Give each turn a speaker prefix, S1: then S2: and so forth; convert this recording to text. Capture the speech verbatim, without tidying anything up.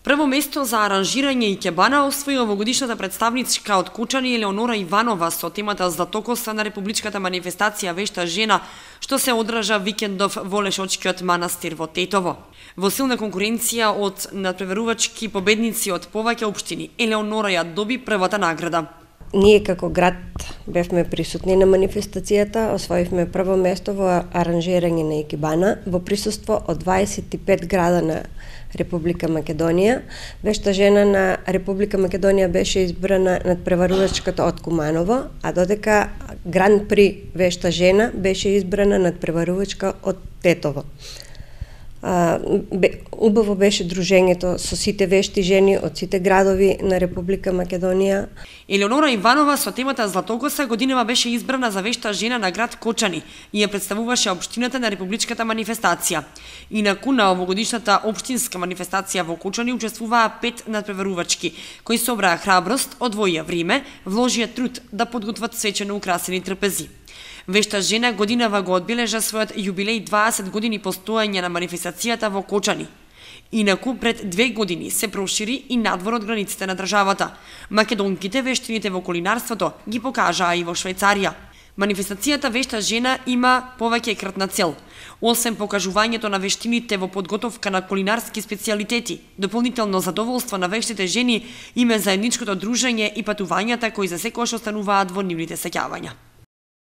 S1: Прво место за аранжирање икебана освои овогодишната представничка од Кочани Елеонора Иванова со темата Златокоса на републичката манифестација Вешта жена, што се одржа викендов во Лешочкиот манастир во Тетово. Во силна конкуренција од надпреварувачки победници од повеќе општини, Елеонора ја доби првата награда.
S2: Ние како град бевме присутни на манифестацијата, освоивме прво место во аранжирање на икебана во присуство од дваесет и пет града на Република Македонија. Вешта жена на Република Македонија беше избрана надпреварувачката од Куманово, а додека Гран При Вешта жена беше избрана надпреварувачка од Тетово. Убаво беше дружењето со сите вешти жени од сите градови на Република Македонија.
S1: Елеонора Иванова со темата Златокоса годинава беше избрана за вешта жена на град Кочани и ја представуваше општината на републичката манифестација. Инаку на овогодишната општинска манифестација во Кочани учествуваа пет надпреварувачки, кои собраа храброст, одвоија време, вложија труд да подготват свечено украсени трпези. Вешта жена годинава го одбележа својот јубилеј дваесет години постоење на манифестацијата во Кочани. Инаку пред две години се прошири и надвор од границите на државата. Македонките вештините во кулинарството ги покажаа и во Швајцарија. Манифестацијата Вешта жена има повеќе кратна цел. Освен покажувањето на вештините во подготовка на кулинарски специјалитети, дополнително задоволство на вештите жени има заедничкото дружење и патувањата кои за секојаш остануваат во нивните сеќавања.